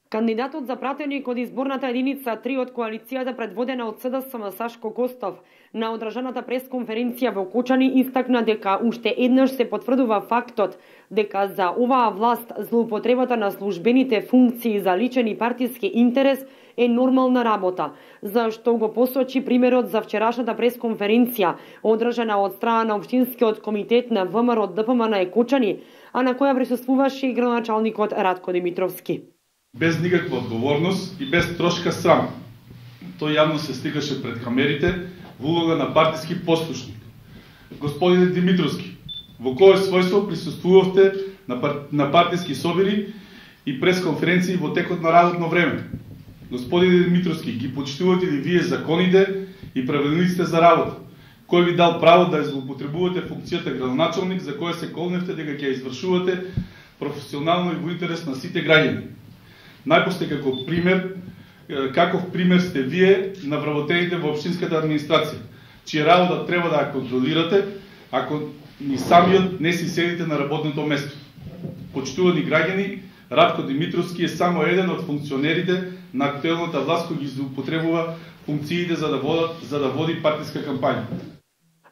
Кандидатот за пратеник од изборната единица 3 од коалицијата предводена од СДСМ Сашко Костов на одржаната пресконференција во Кочани истакна дека уште еднаш се потврдува фактот дека за оваа власт злоупотребата на службените функции за личен и партиски интерес е нормална работа, за што го посочи примерот за вчерашната пресконференција одржана од страна на Општинскиот комитет на ВМРО ДПМН Кочани, а на која присуствуваше и градоначалникот Радко Димитровски. Без никаква одговорност и без трошка срам. Тој јавно се стигаше пред камерите во улога на партиски послушник. Господине Димитровски, во кое својство присуствувавте на партиски собери и пресконференции во текот на работно време? Господине Димитровски, ги почитувате ли вие законите и правилниците за работа? Кој ви дал право да злоупотребувате функцијата градоначалник за која се колневте дека ќе извршувате професионално и во интерес на сите граѓани? Најпосте каков пример сте вие на вработените во општинската администрација, чија работа треба да ја контролирате, ако ни самиот не си седите на работното место. Почитувани граѓани, Радко Димитровски е само еден од функционерите на актуелната власт кој ги злоупотребува функциите за да води партиска кампања.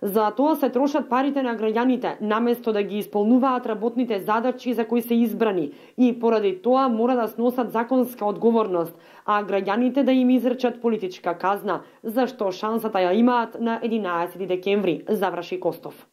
За тоа се трошат парите на граѓаните, наместо да ги исполнуваат работните задачи за кои се избрани и поради тоа мора да сносат законска одговорност, а граѓаните да им изречат политичка казна, зашто шансата ја имаат на 11 декември, заврши Костов.